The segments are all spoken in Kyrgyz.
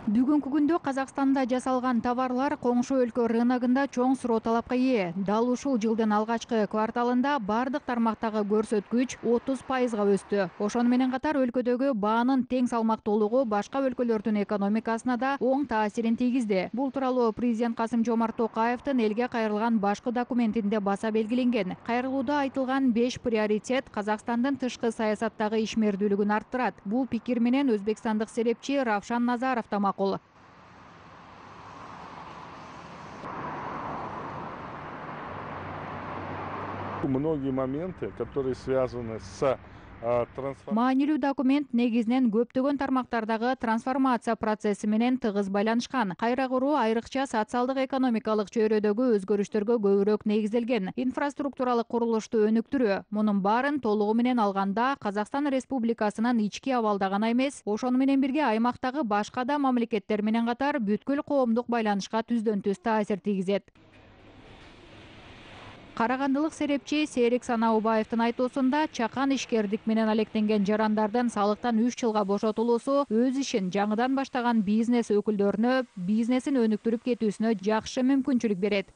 Бүгүнкү күндө Казакстанда жасалган товарлар коңшу өлкө рыногунда чоң суроо талапка ээ. Дал ушул жылдын алгачкы кварталында бардык тармактагы көрсөткүч 30%га өстү. Ошону менен катар өлкөдөгү баанын тең салмактуулугу башка өлкөлөрдүн экономикасына да оң таасирин тийгизди. Бул тууралуу президент Касым-Жомарт Токаевдин элге кайрылган башкы документинде баса белгиленген. Кайрылууда айтылган 5 приоритет Казакстандын тышкы саясаттагы ишмердүүлүгүн арттырат. Бул пикир менен өзбекстандык серепчи Равшан Назаров да макул. Многие моменты, которые связаны с трансформацией. Маанилүү документ негизинен көптөгөн тармактардагы трансформация процесси менен тыгыз байланышкан. Кайра куруу айрыкча социалдык экономикалык чөйрөдөгү өзгөрүштөргө көбүрөөк негизделген. Инфраструктуралык курулушту өнүктүрүү. Мунун баарын толугу менен алганда Казакстан Республикасынын ички абалда гана эмес, ошону менен бирге аймактагы башка да мамлекеттер менен катар бүткүл коомдук байланышка түздөн түз таасир тийгизет. Карагандылык серепчи Серик Санаубаевдин айтуусунда чакан ишкердик менен алектенген жарандардын салыктан 3 жылга бошотулуусу өз ишин жаңыдан баштаган бизнес өкүлдөрүнө бизнесин өнүктүрүп кетүүсүнө жакшы мүмкүнчүлүк берет.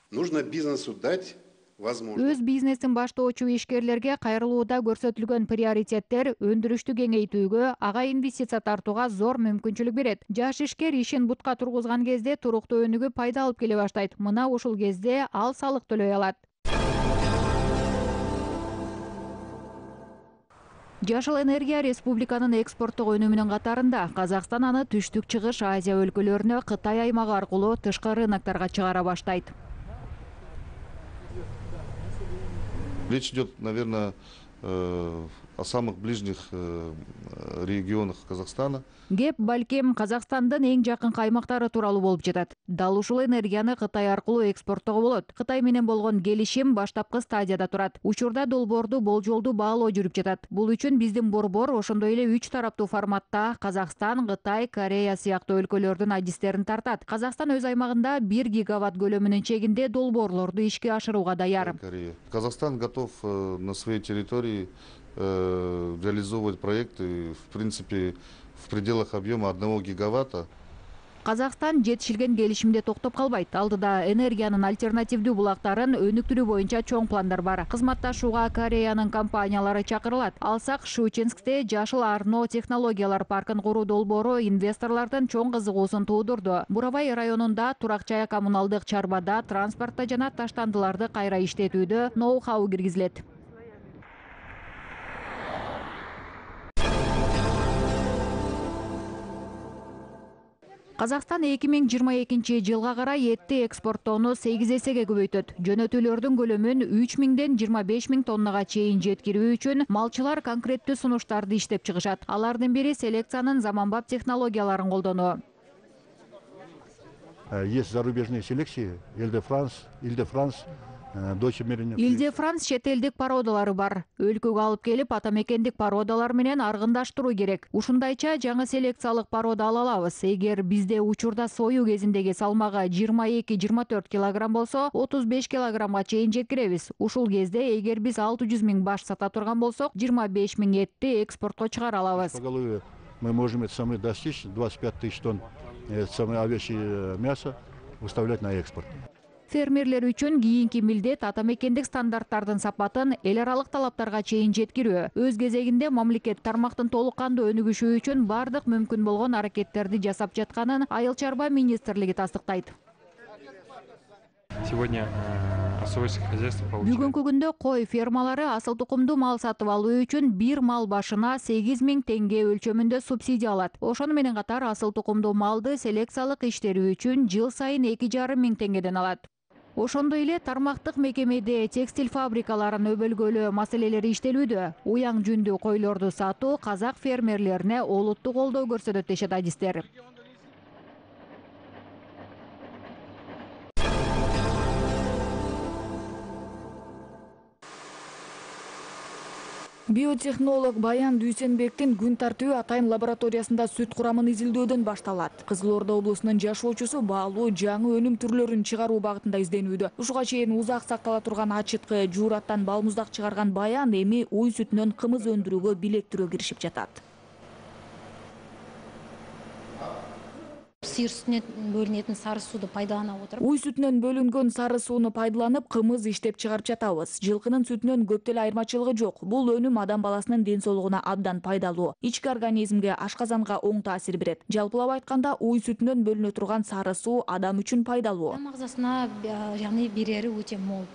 Нужно бизнесу дать возможность. Өз бизнесин баштоочу ишкерлерге кайрылууда көрсөтүлгөн приоритеттер өндүрүштү кеңейтүүгө, ага инвестиция тартууга зор мүмкүнчүлүк берет. Жаш ишкер ишин бутка тургузган кезде туруктуу өнүгүп пайда алып келе баштайт. Мына ушул кезде ал салык төлөй алат. Жашыл энергия республиканын экспорттук өнүмүнүн катарында. Казакстан аны түштүк чыгыш Азия өлкөлөрүнө Кытай аймагы аркылуу тышкы рынокторго чыгара баштайт. Речь идет, наверное, о самых ближних регионах Казахстана. Кеп балким Казакстандын эң жакын аймактары тууралуу болуп жатат. Дал ушул энергияны Кытай аркылуу экспорттоого болот. Кытай менен болгон келишим баштапкы стадияда турат. Учурда долбоорду болжолдуу баалоо жүрүп жатат. Бул үчүн биздин борбор ошондой эле 3 тараптуу форматта Казакстан, Кытай, Корея сыяктуу өлкөлөрдүн адистерин тартат. Казакстан өз аймагында 1 гигаватт көлөмүнүн чегинде долбоорлорду ишке ашырууга даяр. Казахстан готов на своей территории реализовывать проекты, в принципе, в пределах объема 1 гигаватта. Казакстан жетишилген келишимде токтоп калбайт. Алдыда энергиянын альтернативдүү булактарын өнүктүрүү боюнча чоң пландар бар. Кызматташууга Кореянын компаниялары чакырылат. Алсак Щучинскте жашыл Арно технологиялар паркын куруу долбоору инвесторлордун чоң кызыгуусун туудурду. Буравай районунда турак жай коммуналдык чарбада, транспортто жана таштандыларды кайра иштетүүдө ноу-хау киргизилет. Казакстан 2022 жылга карай этти экспорттоону 8 эсеге көбөйтөт. Жөнөтүүлөрдүн көлөмүн 3000ден 25000 тоннага чейин жеткирүү үчүн малчылар конкреттүү сунуштарды иштеп чыгышат. Алардын бири селекциянын заманбап технологияларын колдонуу. Есть зарубежные селекции, Иль-де-Франс, Иль-де-Франс чет элдик породалары бар. Өлкөгө алып келип атамекендик породалар менен аргындаштыруу керек. Ушундайча жаңы селекциялык порода ала алабыз. Эгер бизде учурда союу кезиндеги салмагы 22-24 килограмм болсо, 35 килограммга чейин жеткиребиз. Ушул кезде эгер биз 600 000 баш сата турган болсок, 25 000 этти экспортко чыгара алабыз. Поголовье мы можем это самое достичь, 25 000 тонн овечье мясо выставлять на экспорт. Фермерлер үчүн кийинки милдет атамекендик стандарттардын сапатын эл аралык талаптарга чейин жеткирүү. Өз кезегинде мамлекет тармактын толук кандуу өнүгүшү үчүн бардык мүмкүн болгон аракеттерди жасап жатканын Айыл чарба министрлиги тастыктайт. Сегодня особое хозяйство получает. Бүгүнкү күндө кой фермалары асыл тукумдуу мал сатып алуу үчүн бир мал башына 8 000 теңге өлчөмүндө субсидия алат. Ошону менен катар асыл тукумдуу малды селекциялык иштирүү үчүн жыл сайын 2,5 000 теңгеден алат. Ошондой эле тармактык мекемеде текстиль фабрикаларын өбөлгөлөө маселелери иштелүүдө. Уяң жүндүү койлорду сатуу казак фермерлерине олуттуу колдоо көрсөтөт дешет адистер. Биотехнолог Баян Дүйсенбектин күн тартуу Атайын лабораториясында сүт курамын изилдөөдөн башталат. Кызыл Орда облусунун жашоочусу баалуу жаңы өнүм түрлөрүн чыгаруу багытында изденүүдө. Ушуга чейин узак сактала турган ачыткы жуураттан балмуздак чыгарган Баян эми уй сүтүнөн кымыз өндүрүүгө билектирөө киришип жатат. сыйыр сүтүнөн бөлүнетін сары суды пайдалана отырып. Уй сүтүнөн бөлүнгөн сары сууну пайдаланып, кымыз иштеп чыгарып жатабыз. Жылкынын сүтүнөн көп деле айырмачылыгы жок. Бул өнүм адам баласынын ден соолугуна абдан пайдалуу. Ички организмге, ашказанга оң таасир берет. Жалпылап айтканда, уй сүтүнөн бөлүнө турган сары суу адам үчүн пайдалуу. Адам агзасына яғни берери өтө мол.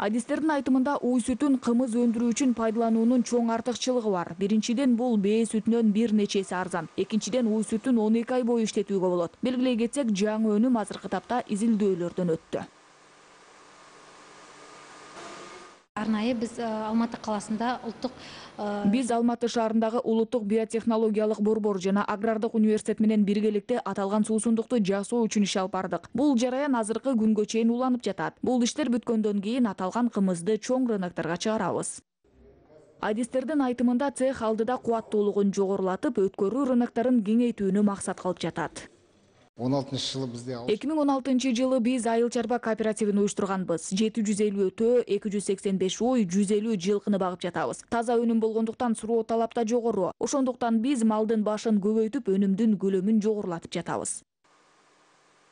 Адистердин айтымында уй сүтүн кымыз өндүрүү үчүн пайдалануунун чоң артыкчылыгы бар. Биринчиден, бул бээ сүтүнөн бир нече эсе арзан. Экинчиден, уй сүтүн 12 ай бою иштетүүгө болот. Белгилей кетсек, жаңы өнүм азыркы тапта изилдөөлөрдөн өттү. Арнайы биз Алматы каласында Биз Алматы шаарындагы улуттук биотехнологиялык борбор жана агрардык университет менен биргеликте аталган суусундукту жасоо үчүн иш алып бардык. Бул жараян азыркы күнгө чейин уланып жатат. Бул иштер бүткөндөн кийин аталган кымызды чоң рынокторго чыгарабыз. Адистердин айтымында цех алдыда кубаттуулугун жогорулатып, өткөрүү рынокторун кеңейтүүнү максат кылып жатат. 2016 жылы биз айыл чарба кооперативин уюштурганбыз. 750 өтө, 285 уй, 150 жылкыны багып жатабыз. Таза өнүм болгондуктан суроо талап да жогору. Ошондуктан биз малдын башын көбөйтүп, өнүмдүн көлөмүн жогорулатып жатабыз.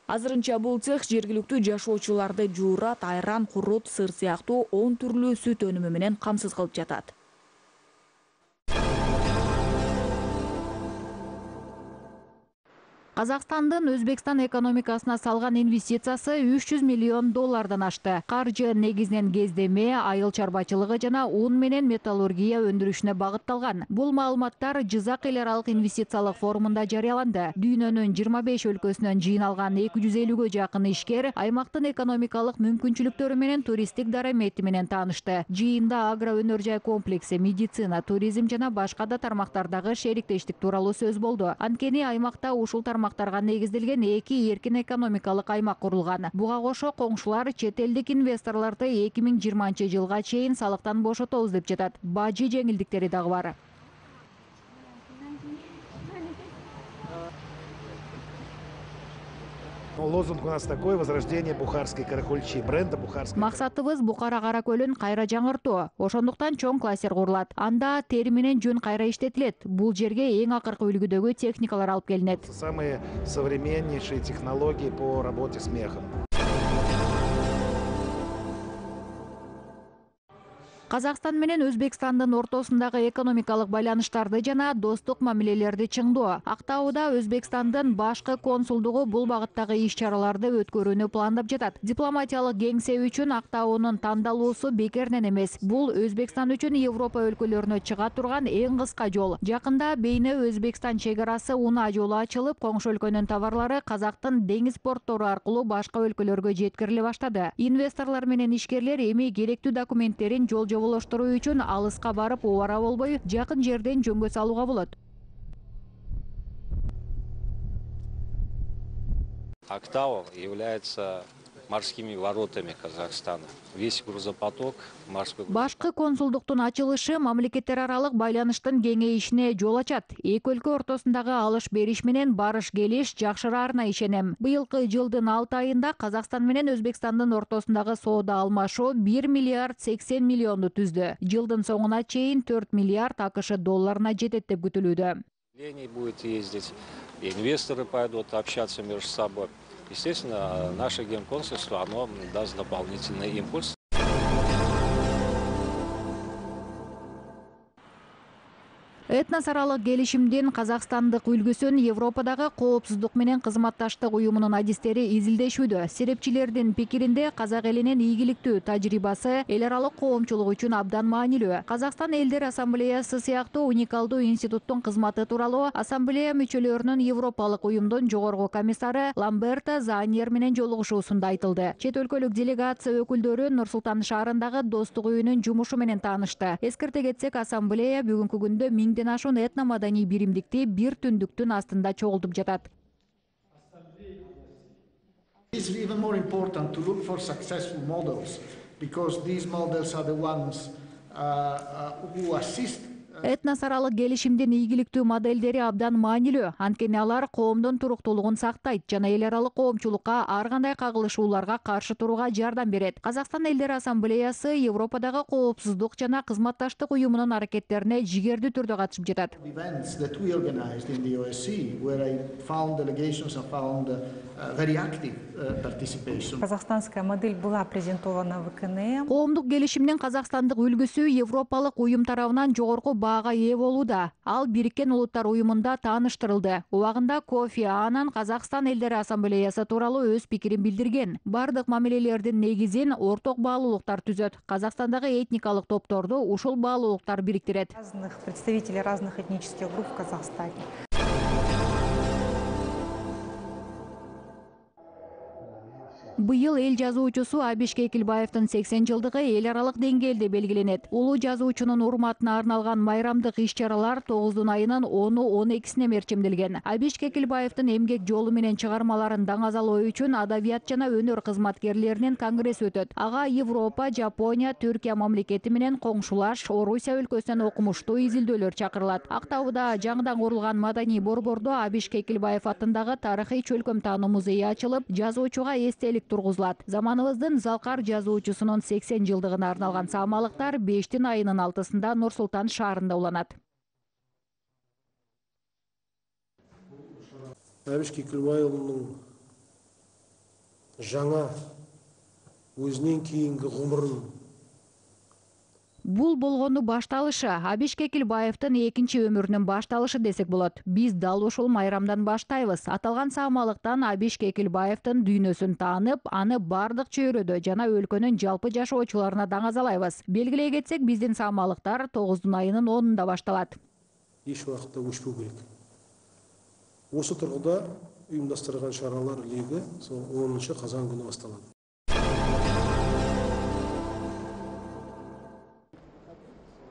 Азырынча бул цех жергиликтүү жашоочуларды жуурат, айран, курут, сыр сыяктуу 10 түрлүү сүт өнүмү менен камсыз кылып жатат. Казакстандын Өзбекстан экономикасына салган инвестициясы 300 миллион доллардан ашты. Каржы негизинен кездеме, айыл чарбачылыгы жана ун менен металлургия өндүрүшүнө багытталган. Бул маалыматтар Жизак эл аралык инвестициялык форумунда жарыяланды. Дүйнөнүн 25 өлкөсүнөн жыйналган 250-гө жакын ишкер аймактын экономикалык мүмкүнчүлүктөрү менен туристтик дарамети менен таанышты. Жыйында агро өнөр жай комплекси, медицина, туризм жана башка да тармактардагы шериктештик тууралуу сөз болду. Анткени аймакта ушул тармактарга негизделген 2 эркин экономикалык аймак курулган. Буга кошо коңшулар чет элдик инвесторлорду 2020 жылга чейин салыктан бошотобуз деп жатат. Бажы жеңилдиктери дагы бар. Лозунг у нас такой: возрождение бухарской каракульчи, бренда бухарской. Максатыбыз Бухара каракөлүн кайра жаңыртуу. Ошондуктан чоң кластер курулат. Анда тери менен жүн кайра иштетилет. Бул жерге эң акыркы үлгүдөгү техникалар алып келинет. Самые современнейшие технологии по работе с мехом. Казакстан менен Өзбекстандын ортосундагы экономикалык байланыштарды жана достук мамилелерди чыңдоо. Актауда Өзбекстандын башкы консулдугу бул багыттагы иш-чараларды өткөрүүнү пландап жатат. Дипломатиялык кеңсе үчүн Актаунун тандалуусу бекеринен эмес. Бул Өзбекстан үчүн Европа өлкөлөрүнө чыга турган эң кыска жол. Жакында Бейне Өзбекстан чек-арасы унаа жолу ачылып, коңшу өлкөнүн товарлары Казактын деңиз порттору аркылуу башка өлкөлөргө жеткириле баштады. Инвесторлор менен ишкерлер эми керектүү документтерин жолжоболоштуруу үчүн алыска барып убара болбой, жакын жерден жөнгө салууга болот. Актау является морскими воротами Казахстана. Весь грузопоток морской. Башкы консулдуктун ачылышы мамлекеттер аралык байланыштын кеңейишине жол ачат. Эки өлкө ортосундагы алыш-бериш менен барыш-келиш жакшыраарына ишенем. Быйылкы жылдын 6 айында Казакстан менен Өзбекстандын ортосундагы соода алмашуу 1 миллиард 80 миллионду түздү. Жылдын соңуна чейин 4 миллиард АКШ долларына жетет деп күтүлүүдө. Будет ездить, инвесторы пойдут общаться между собой. Естественно, наше генконсульство, оно даст дополнительный импульс. Этнос аралык келишимдин казакстандык үлгүсүн Европадагы коопсуздук менен кызматташтык уюмунун адистери изилдешүүдө. Серепчилердин пикиринде казак элинин ийгиликтүү тажрыйбасы эл аралык коомчулук үчүн абдан маанилүү. Казакстан элдер ассамблеясы сыяктуу уникалдуу институттун кызматы тууралуу ассамблея мүчөлөрүнүн Европалык уюмдун жогорку комиссары Ламберто Заньер менен жолугушуусунда айтылды. Чет өлкөлүк делегация өкүлдөрү Нур-Султан шаарындагы достук үйүнүн жумушу менен таанышты. Эскерте кетсек, ассамблея бүгүнкү күндө 1000 ашуун этно-маданий биримдикти бир түндүктүн астында чогултуп жатат. It's even more important to look for successful models, because these models are the ones who assist Этнос аралык келишимдин ийгиликтүү моделдери абдан маанилүү. Анткени алар коомдун туруктуулугун сактайт жана эл аралык коомчулукка ар кандай кагылышууларга каршы турууга жардам берет. Казакстан Элдер Ассамблеясы Европадагы коопсуздук жана кызматташтык уюмунун аракеттерине жигердүү түрдө катышып жатат. Events that we organized in the OSCE, where I found delegations and found very active participation. Казахстанская модель была презентована в КНМ. Коомдук келишимдин казакстандык үлгүсү Европалык уюм тарабынан жогорку баага ээ болууда. Ал Бириккен Улуттар уюмунда тааныштырылды. Убагында Кофи Аннан Казакстан Элдер Ассамблеясы тууралуу өз пикирин билдирген. Бардык мамилелердин негизин орток баалуулуктар түзөт. Казакстандагы этникалык топторду ушул баалуулуктар бириктирет. Разных представителей разных этнических групп в Казахстане. Быйыл эл жазуучусу Абиш Кекилбаевдин 80 жылдыгы эл аралык деңгээлде белгиленет. Улуу жазуучунун урматына арналган майрамдык иш-чаралар 9 айынын 10-12-сине мерчимделген. Абиш Кекилбаевдин эмгек жолу менен чыгармаларын даңазалоо үчүн адабият жана өнөр кызматкерлеринин конгресси өтөт. Ага Европа, Жапония, Түркия мамлекети менен коңшулаш Орусия өлкөсүнөн окумуштуу изилдөөлөр чакырылат. Актауда жаңыдан курулган маданий борбордо Абиш Кекилбаев атындагы тарыхый чөлкөм таануу музейи ачылып, жазуучуга эстелик тургузулат. Заманыбыздын залкар жазуучусунун 80 жылдыгына арналган саамалыктар 5 айынын 6-сында Нур Султан шаарында уланат. Абиш Кекилбаевдин жаңа өзүнөн кийинки гумурун Бул болгону башталышы, Абиш Кекилбаевдин экинчи өмүрүнүн башталышы десек болот. Биз дал ушул майрамдан баштайбыз. Аталган саамалыктан Абиш Кекилбаевдин дүйнөсүн таанып, аны бардык чөйрөдө жана өлкөнүн жалпы жашоочуларына даңазалайбыз. Белгилей кетсек, биздин саамалыктар 9 айынын 10-унда башталат. Эч убакта өчпөй керек. Осы тургуда уюмдаштырган чаралар леги 10 казан күнү башталат.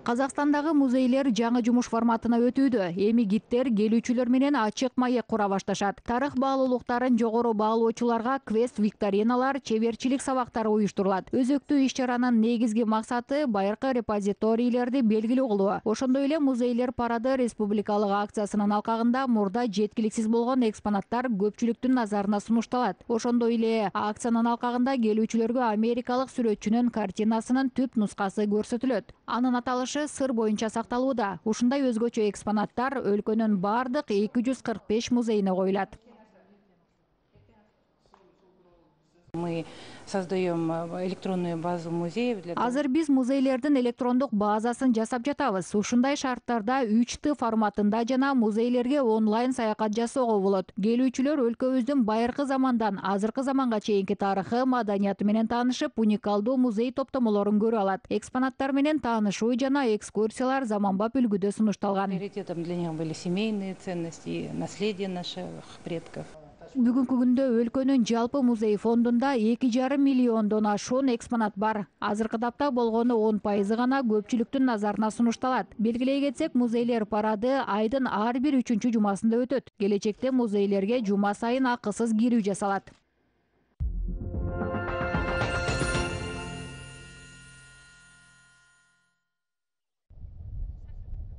Казакстандагы музейлер жаңы жумуш форматына өтүүдө. Эми гидтер келүүчүлөр менен ачык маек кура башташат. Тарых баалуулуктарын жогору баалоочуларга квест викториналар, чеберчилик сабактары уюштурулат. Өзөктүү иш-чаранын негизги максаты байыркы репозиторийлерди белгилүү кылуу. Ошондой эле музейлер парады республикалык акциясынын алкагында мурда жеткиликсиз болгон экспонаттар көпчүлүктүн назарына сунушталат. Ошондой эле акциянын алкагында келүүчүлөргө америкалык сүрөтчүнүн картинасынын түп нускасы көрсөтүлөт. Анын аталышы сыр боюнча сакталууда. Ушундай өзгөчө экспонаттар өлкөнүн бардык 245 музейине коюлат. Мы создаем электронную базу музеев. Азыр биз музейлердин электрондук базасын жасап жатабыз. Ушундай шарттарда 3Т форматында жана музейлерге онлайн саякат жасоого болот. Келүүчүлөр өлкөбүздүн байыркы замандан азыркы заманга чейинки тарыхы, маданияты менен таанышып, уникалдуу музей топтомолорун көрө алат. Экспонаттар менен таанышуу жана экскурсиялар заманбап үлгүдө сунушталган. Приоритетом для них были семейные ценности, наследие наших предков. Бүгүнкү күндө өлкөнүн жалпы музей фондунда 2,5 миллиондон ашуун экспонат бар. Азыркы тапта болгону 10% гана көпчүлүктүн назарына сунушталат. Белгилей кетсек, музейлер парады айдын ар бир 3-чү жумасында өтөт. Келечекте музейлерге жума сайын акысыз кирүү жасалат.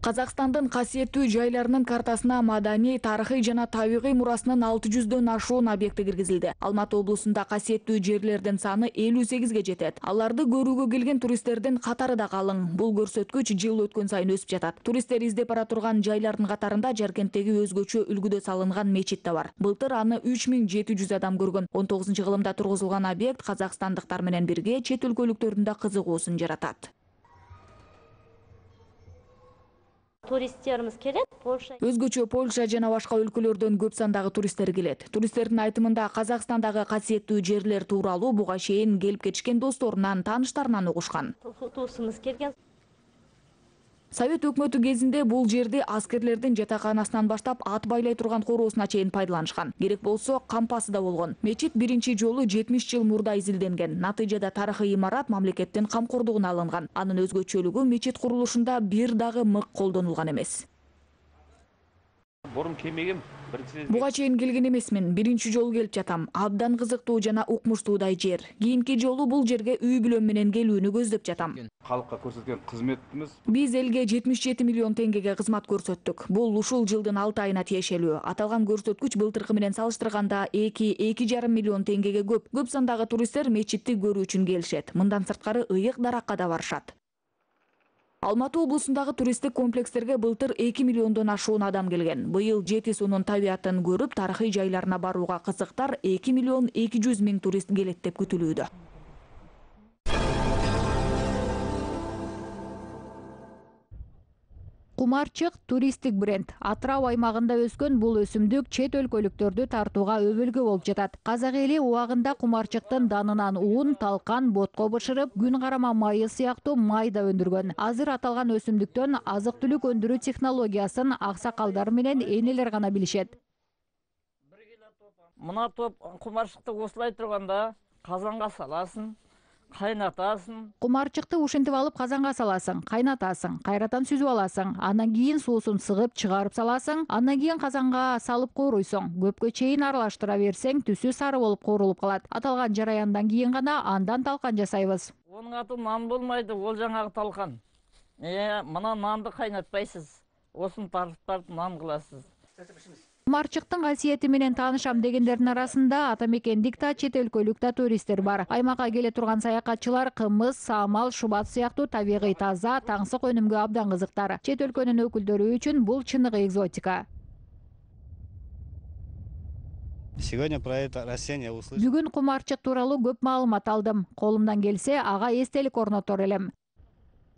Казакстандын касиеттүү жайларынын картасына маданий, тарыхый жана табигый мурасынын 600дөн ашуун объекти киргизилди. Алматы облусунда касиеттүү жерлердин саны 58ге жетет. Аларды көрүүгө келген туристтердин катары да калың. Бул көрсөткүч жыл өткөн сайын өсүп жатат. Туристтер издеп бара турган жайлардын катарында Жаркенттеги өзгөчө үлгүдө салынган мечит да бар. Былтыр аны 3700 адам көргөн. 19-кылымда тургузулган объект казакстандыктар менен бирге чет өлкөлүктөрдүн да кызыгуусун жаратат. Туристтерimiz келет. Өзгөчө Польша жана башка өлкөлөрдөн көп сандагы туристтер келет. Туристтердин айтымында Казакстандагы касиеттүү жерлер тууралуу буга чейин келип кетишкен досторунан, тааныштарынан угушкан. Туусумуз келген. Совет өкмөтү кезинде бул жерди аскерлердин жатаканасынан баштап ат байлай турган короосуна чейин пайдаланышкан. Керек болсо кампасы да болгон. Мечит биринчи жолу 70 жыл мурда изилденген. Натыйжада тарыхый имарат мамлекеттин камкордугуна алынган. Анын өзгөчөлүгү мечит курулушунда бир дагы мык колдонулган эмес. Борун келмеген Буга чейин келген эмесмин. Биринчи жолу келип жатам. Абдан кызыктуу жана укмуштуудай жер. Кийинки жолу бул жерге үй бүлөм менен келүүнү көздөп жатам. Халыкка көрсөткөн кызметибиз. Биз элге 77 миллион теңгеге кызмат көрсөттүк. Бул ушул жылдын 6 айына тиешелүү. Аталган көрсөткүч былтыркы менен салыштырганда 2,5 миллион теңгеге көп. Көп сандагы туристтер мечитти көрүү үчүн келишет. Мындан сырткары ыйык даракка да барышат. Алматы облусундагы туристтик комплекстерге былтыр 2 миллиондон ашуун адам келген. Быйыл Жети суунун табиятын көрүп, тарыхый жайларына барууга кызыктар 2 миллион 200 миң турист келет деп күтүлүүдө. Кумарчык туристтик бренд. Атырау аймагында өскөн бул өсүмдүк чет өлкөлүктөрдү тартууга өбөлгө болуп жатат. Казак эли убагында кумарчыктын данынан ун, талкан, ботко бышырып, күн карама майы сыяктуу май да өндүргөн. Азыр аталган өсүмдүктөн азык-түлүк өндүрүү технологиясын аксакалдар менен энелер гана билишет. Мына топ кумарчыкты осулай турганда казанга саласың, кайнатасың. Кумарчыкты ушинтип алып казанга саласың, кайнатасың, кайрадан сүзүп аласың, андан кийин суусун сыгып чыгарып саласың, андан кийин казанга салып кууруйсуң. Көпкө чейин аралаштыра берсең, түсү сары болуп куурулуп калат. Аталган жараяндан кийин гана андан талкан жасайбыз. Онун аты нан болмойду, ол жаңагы талкан. Мына нанды кайнатпайсыз. Осун тартып нан кыласыз. Кумарчыктын касиети менен таанышам дегендердин арасында атамекендик да, чет өлкөлүк да туристтер бар. Аймакка келе турган саякатчылар кымыз, саамал, шубат сыяктуу табигый таза, таңсык өнүмгө абдан кызыктар. Чет өлкөнүн өкүлдөрү үчүн бул чыныгы экзотика. Сегодня про это растение услышал. Бүгүн кумарчык тууралуу көп маалымат алдым. Колумдан келсе, ага эстелик орнотор элем.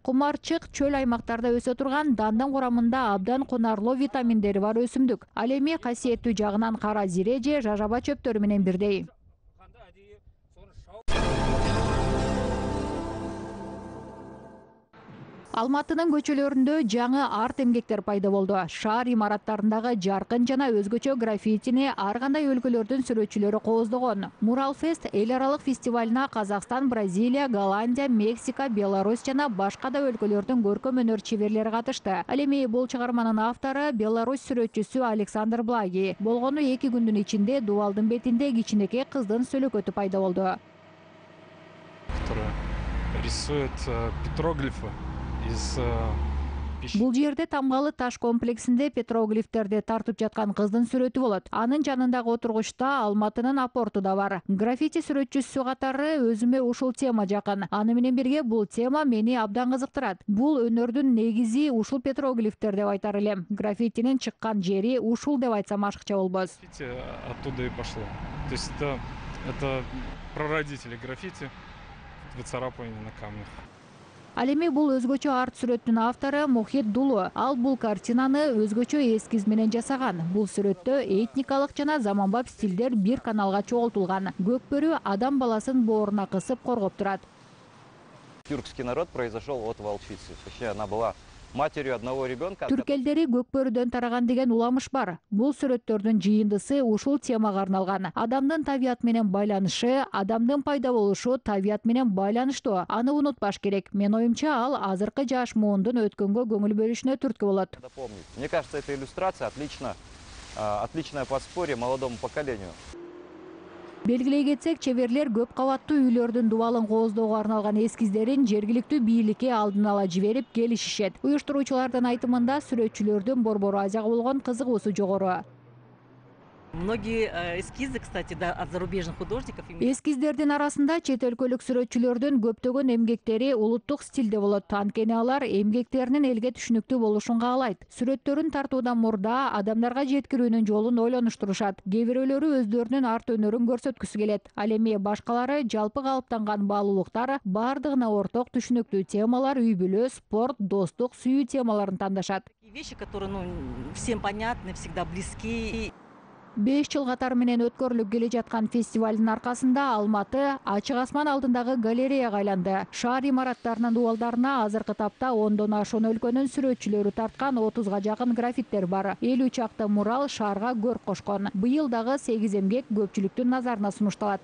Кумарчык чөл аймактарда өсө турган дандын курамында абдан кунарлуу витаминдери бар өсүмдүк. Ал эми касиеттүү жагынан кара зире же жажаба чөптөрү менен бирдей. Алматынын көчөлөрүндө жаңы арт эмгектер пайда болду. Шаар имараттарындагы жаркын жана өзгөчө граффитини ар кандай өлкөлөрдүн сүрөтчүлөрү кооздогон. Муралфест эл аралык фестивалына Казакстан, Бразилия, Голландия, Мексика, Беларусь жана башка да өлкөлөрдүн көркөм өнөр чеберлери катышты. Ал эми бул чыгарманын автору Беларусь сүрөтчүсү Александр Благи. Болгону 2 күндүн ичинде дубалдын бетинде кичинекей кыздын сөлөкөтү пайда болду. Которая рисует петроглифы. Бул жерде тамгалы таш комплексинде петроглифтерди тартып жаткан кыздын сүрөтү болот. Анын жанындагы отургучта Алматынын апорту да бар. Граффити сүрөтчүсү катары өзүмө ушул тема жакын. Аны менен бирге бул тема мени абдан кызыктырат. Бул өнөрдүн негизи ушул петроглифтер деп айтар элем. Граффитинин чыккан жери ушул деп айтсам ашыкча болбос. Оттуда и пошло. То есть это прародители граффити, выцарапывание на камнях. Ал эми бул өзгөчө арт сүрөттүн автору Мухит Дулу. Ал бул картинаны өзгөчө эскиз менен жасаган. Бул сүрөттө этникалык жана заманбап стилдер бир каналга чогултулган. Көкбөрү адам баласын бооруна кысып коргоп турат. Тюркский народ произошел от волчицы. Точнее, она была матерью одного ребенка. Түрк элдери көкбөрүдөн тараган деген уламыш бар. Бул сүрөттөрдүн жыйындысы ушул темага арналган. Адамдын табият менен байланышы, адамдын пайда болушу табият менен байланыштуу. Аны унутпаш керек. Мен оюмча ал азыркы жаш муундун өткөнгө көңүл бөлүшүнө түрткү болот. Мне кажется, эта иллюстрация отличное подспорье молодому поколению. Белгилей кетсек, чеберлер көп кабаттуу үйлөрдүн дубалын кооздоого арналган эскиздерин жергиликтүү бийликке алдын ала жиберип келишишет. Уюштуруучулардын айтымында сүрөтчүлөрдүн борбор Азияга болгон кызыгуусу жогору. Многие эскизы, кстати, да, от зарубежных художников. Эскиздердин арасында чет өлкөлүк сүрөтчүлөрдүн көптөгөн эмгектери улуттук стилде болот. Анткени алар эмгектеринин элге түшүнүктүү болушун каалайт. Сүрөттөрүн тартуудан мурда адамдарга жеткирүүнүн жолун ойлонуштурушат. Кээ бирөөлөрү өздөрүнүн арт өнөрүн көрсөткүсү келет. Ал эми башкалары жалпы калыптанган баалуулуктар, бардыгына орток түшүнүктүү темалар, үй бүлө, спорт, достук, сүйүү темаларын тандашат. Вещи, которые, всем понятны, всегда близки. 5 жыл катары менен өткөрүлүп келе жаткан фестивалдын аркасында Алматы ачык асман алдындагы галереяга айланды. Шаар имараттарынын дубалдарына азыркы тапта 10дон ашуун өлкөнүн сүрөтчүлөрү тарткан 30га жакын граффиттер бар. 50 чакты мурал шаарга көрк кошкон. Быйыл дагы 8 эмгек көпчүлүктүн назарына сунушталат.